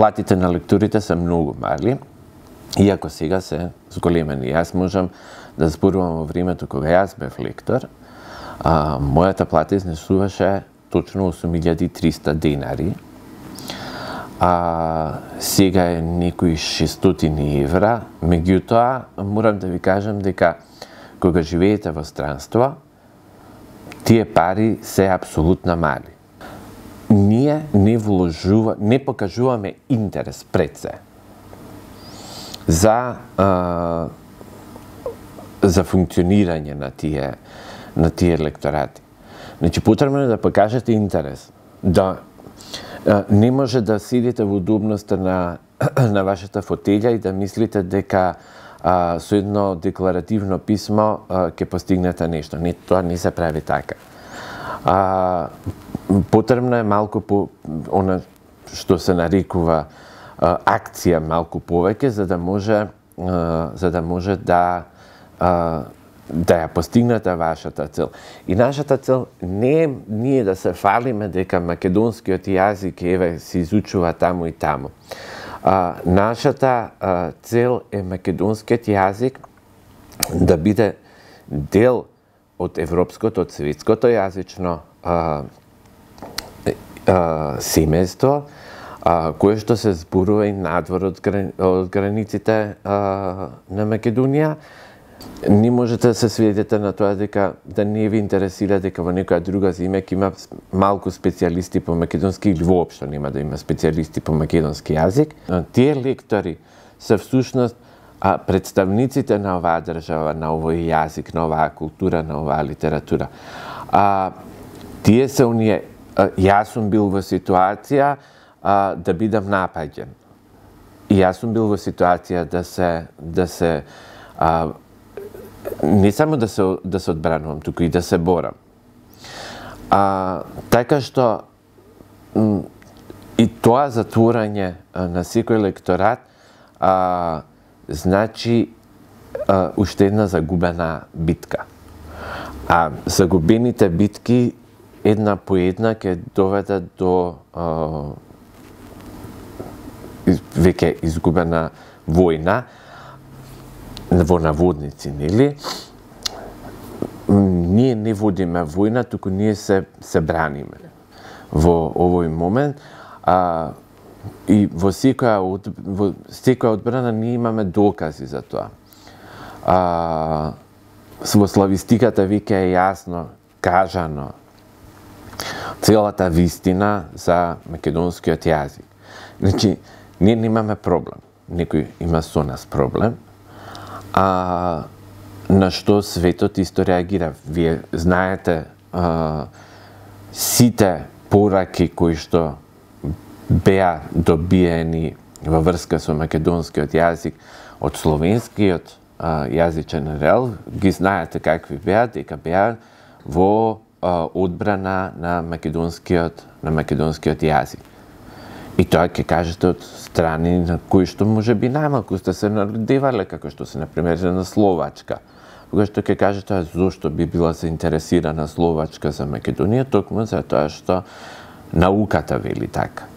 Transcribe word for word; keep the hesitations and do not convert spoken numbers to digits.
платите на лекторите се многу мали, иако сега се зголемени. Јас можам да зборувам во времето кога јас бев лектор, а, мојата плата изнесуваше точно осум илјади и триста денари, а сега е некои шестстотини евра, меѓутоа морам да ви кажам дека кога живеете во странство, тие пари се апсолутно мали. Ние не вложува, не покажуваме интерес пред се за а, за функционирање на тие на тие лекторати. Значи потребно е да покажете интерес, да а, не може да седите во удобноста на на вашата фотелја и да мислите дека а, со едно декларативно писмо а, ќе постигнете нешто. Не, тоа не се прави така. А, потребно е малку по она што се нарекува а, акција малку повеќе за да може а, за да може да а, да ја постигнете вашата цел. И нашата цел не е ние да се фалиме дека македонскиот јазик еве се изучува таму и таму. А, нашата а, цел е македонскиот јазик да биде дел од европското, од светското јазично а, а, семејство, а, кое што се зборува и надвор од, грани, од границите а, на Македонија. Не можете да се сведете на тоа дека да не ви интересира дека во некоја друга земја ќе има малку специјалисти по македонски или воопшто нема да има специјалисти по македонски јазик. Тие лектори се всушност а, представниците на оваа држава, на овој јазик, на оваа култура, на оваа литература. А, тие се оние, а, јас сум бил во ситуација а, да бидам напаѓен. И јас сум бил во ситуација да се да се а, не само да се да се одбранувам, туку и да се борам. А, така што и тоа затворање на секој лекторат а, значи а, уште една загубена битка. А загубените битки една по една ќе доведат до а, веќе изгубена војна, во наводници, нели? Ние не водиме војна, туку ние се, се браниме во овој момент. А, и во секоја, од, во секоја одбрана ние имаме докази за тоа. А, во славистиката веќе е јасно кажано целата вистина за македонскиот јазик. Значи, ние немаме проблем. Некој има со нас проблем. А, на што светот исто реагира. Вие знаете а, сите пораки кои што беа добиени во врска со македонскиот јазик од словенскиот а, јазичен рел, ги знаете какви беа, дека беа во а, одбрана на македонскиот на македонскиот јазик. И тоа ќе кажете од страни на кои што може би најмалку сте се народевале, како што се, например, на Словачка. Кога што ќе кажете зошто би била заинтересирана Словачка за Македонија, токму за тоа што науката вели така.